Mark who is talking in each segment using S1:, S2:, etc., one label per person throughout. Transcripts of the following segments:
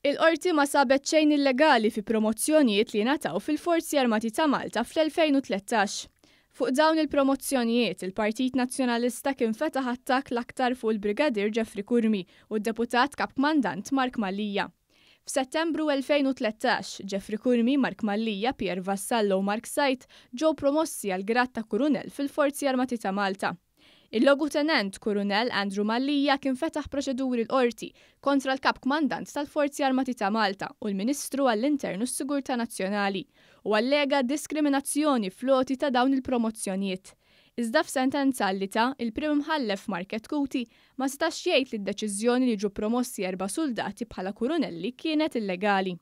S1: Il-Qorti ma sabet xejn illegali fi promozzjonijiet li ngħataw fil-Forzi Armati ta' Malta fl-2013. Fuq dawn il-promozzjonijiet, il-Partit Nazzjonalista kien fetaħ attakk l-aktar fuq il-Brigadier Jeffrey Curmi u d-Deputat Kap Kmandant Mark Mallia. F'Settembru 2013, Jeffrey Curmi, Mark Mallia, Pierre Vassallo u Mark Said ġew promossi għall-grad ta' Kurunell fil-Forzi Armati ta' Malta. Il-Logutenent Kurunell Andrew Mallia kien fetaħ proċeduri l-Qorti kontra l-Kap Kmandant tal-Forzi Armati ta' Malta u l-Ministru għall-Intern u s-Sigurtà Nazzjonali u allega diskriminazzjoni fl-għoti ta' dawn il-promozzjonijiet. Iżda f'sentenza li ta, il-Prim Imħallef Mark Chetcuti ma setax jgħid li d-deċiżjoni li jiġu promossi erba' suldati bħala kurunelli kienet illegali.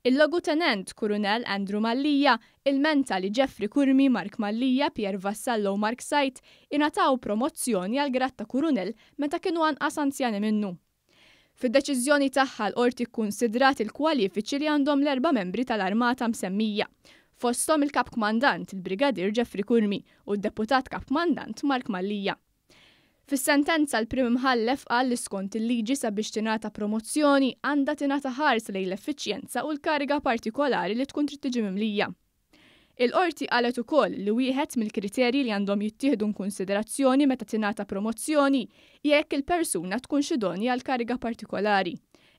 S1: Il-Logutenent Kurunell Andrew Mallia ilmenta li Jeffrey Curmi, Mark Mallia, Pierre Vassallo u Mark Said ingħataw promozzjoni għall-grad ta' Kurunell meta kienu anqas anzjani minnu. Fid-deċiżjoni tagħha l-Qorti kkunsidrat il-kwalifiċi li għandhom l-erba' membri tal-Armata msemmija, fosthom il-Kap Kmandant, il-Brigadier Jeffrey Curmi u d-Deputat Kap Kmandant Mark Mallia. Fis-sentenza l-Prim Imħallef qal li skont il-liġi sabiex tingħata promozzjoni għandha tingħata ħarsa lejn l-effiċjenza u l-kariga partikolari li tkun trid tiġi mimlija. Il-Qorti qalet ukoll li wieħed mill-kriterji li għandhom jittieħdu inkunsiderazzjoni meta tingħata promozzjoni hija jekk il-persuna tkunx idonja għal kariga partikolari.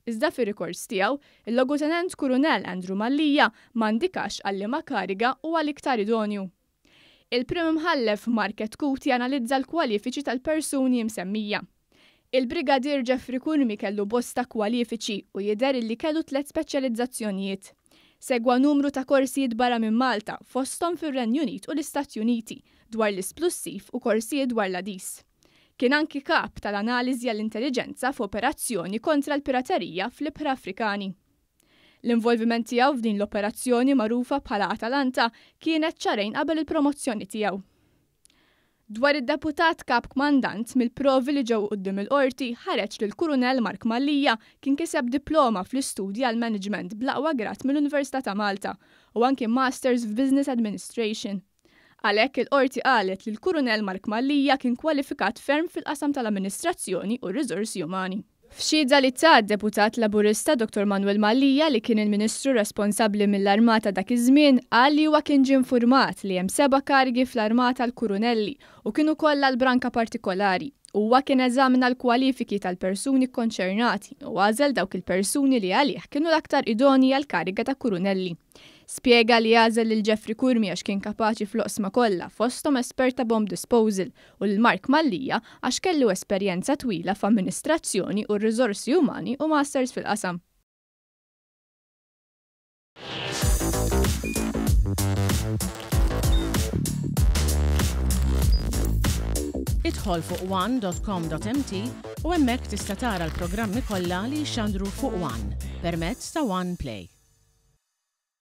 S1: Iżda fir-rikors tiegħu, il-Logutenent Kurunell Andrew Mallia ma indikax għal liema kariga huwa l-iktar idonju. Il-Prim Imħallef Mark Chetcuti analizza l-kwalifiċi tal-persuni msemmija. Il-Brigadier Jeffrey Curmi kellu bosta kwalifiċi u jidher illi kellu tlett speċjalizzazzjonijiet. Segwa numru ta' korsijiet barra minn Malta, fosthom fir-Renju Unit u l-Istati Uniti, dwar l-isplussiv u korsijiet dwar l-għadis. Kien anki kap tal-analiżi għall-intelliġenza f'operazzjoni kontra l-piraterija fl-ibħra Afrikani. L-involviment tiegħu f'din l-operazzjoni magħrufa bħala Atalanta kienet xahrejn qabel il-promozzjoni tiegħu. Dwar id-Deputat Kap Kmandant, mill-provi li ġew quddiem il-Qorti ħareġ li l-Kurunell Mark Mallia kien kiseb diploma fl-istudji għall-Management bl-aqwa grad mill-Università ta' Malta u anki Masters f'Business Administration. Għalhekk il-Qorti qalet li l-Kurunell Mark Mallia kien kwalifikat ferm fil-qasam tal-amministrazzjoni u r-riżorsi umani. F'xhieda li ta d-Deputat Laburista Dottor Manuel Mallia li kien il-Ministru responsabbli mill-Armata dak iż-żmien qal li huwa kien ġie nfurmat li hemm seba' karigi fl-Armata għall-Kurunelli u kienu kollha għal branka partikolari. Huwa kien eżamina l-kwalifiki tal-persuni kkonċernati u għażel dawk il-persuni li għalih kienu l-aktar idonji għall-kariga ta' Kurunelli. Spjega li għażel lil Jeffrey Curmi għax kien kapaċi fl-oqsma kollha, fosthom espert ta' bomb disposal, u lil Mark Mallia għax kellu esperjenza twila f'amministrazzjoni u r-riżorsi umani u masters fil-qasam.
S2: Idħol fuq one.com.mt u hemmhekk tista' tara l-programmi kollha li jixxandru fuq One permezz ta' One Play.